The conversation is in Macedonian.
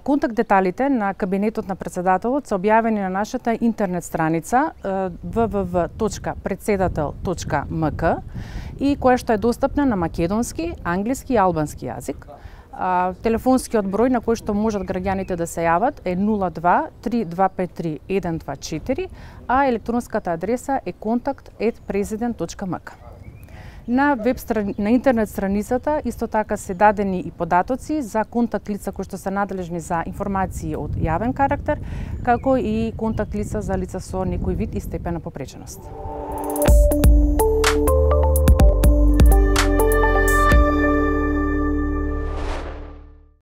Контакт деталите на кабинетот на председателот се објавени на нашата интернет страница www.predsedatel.mk и која што е достапна на македонски, англиски и албански јазик. Телефонскиот број на кој што можат граѓаните да се јават е 02-3253-124, а електронската адреса е contact@president.mk. На интернет страницата исто така се дадени и податоци за контакт лица кои што се надлежни за информации од јавен карактер, како и контакт лица за лица со некој вид и степен на попреченост.